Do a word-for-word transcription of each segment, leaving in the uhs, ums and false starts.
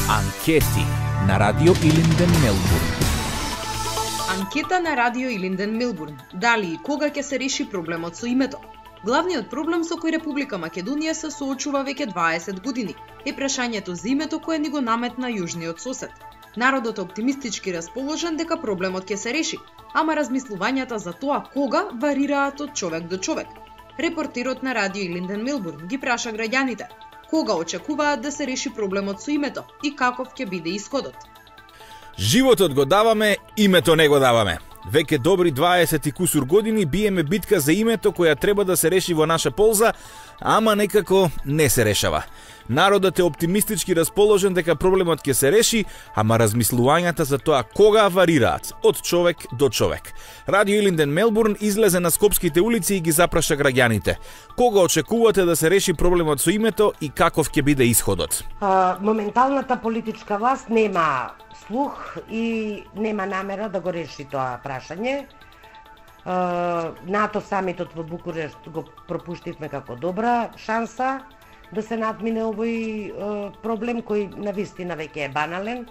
Анкети на Радио Илинден Мелбурн. Анкета на Радио Илинден Мелбурн. Дали и кога ќе се реши проблемот со името? Главниот проблем со кој Република Македонија се соочува веќе дваесет години е прашањето за името кое ни го наметна јужниот сосед. Народот е оптимистички расположен дека проблемот ќе се реши, ама размислувањата за тоа кога варираат од човек до човек. Репортерот на Радио Илинден Мелбурн ги праша граѓаните кога очекуваат да се реши проблемот со името и каков ќе биде исходот. Животот го даваме, името не го даваме. Веќе добри дваесет и кусур години биеме битка за името која треба да се реши во наша полза, ама некако не се решава. Народот е оптимистички расположен дека проблемот ќе се реши, ама размислувањата за тоа кога варираат од човек до човек. Радио Илинден Мелбурн излезе на скопските улици и ги запраша граѓаните. Кога очекувате да се реши проблемот со името и каков ќе биде исходот? А, моменталната политичка власт нема слух и нема намера да го реши тоа прашање. НАТО самитот во Букурешт го пропуштивме како добра шанса да се надмине овој проблем кој навистина веќе е банален,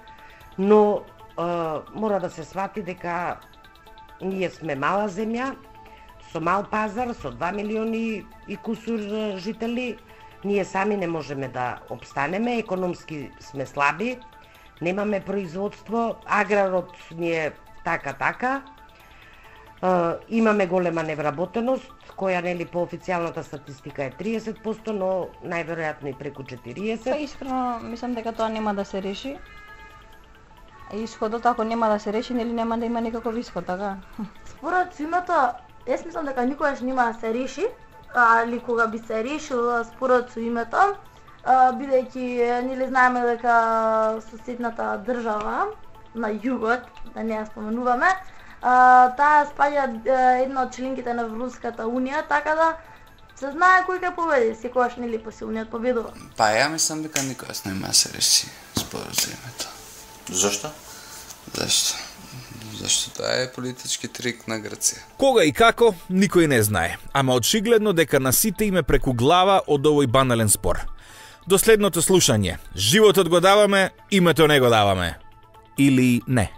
но мора да се свати дека ние сме мала земја со мал пазар, со два милиони и кусур жители. Ние сами не можеме да обстанеме, економски сме слаби, немаме производство, аграрот ни е така-така. Uh, имаме голема невработеност, која нели по официјалната статистика е триесет проценти, но најверојатно и преку четириесет проценти. Па искрено мислам дека тоа нема да се реши. Исходот ако нема да се реши, нели нема да има никаков исход, така? Според името, јас мислам дека никогаш нема да се реши, али кога би се решил според со името, бидејќи нели знаеме дека соседната држава на југот, да не ја споменуваме, Uh, таа спаѓа uh, една од членките на Европската унија, така да се знае кој ќе победи, секогаш нели посилниот победува. Па ја мислам дека никогаш нема да се реши споразумето. Зошто? Зашто? Зашто тоа е политички трик на Грција. Кога и како, никој не знае, ама очигледно дека на сите име преку глава од овој банален спор. До следното слушање. Животот го даваме, името не го даваме. Или не.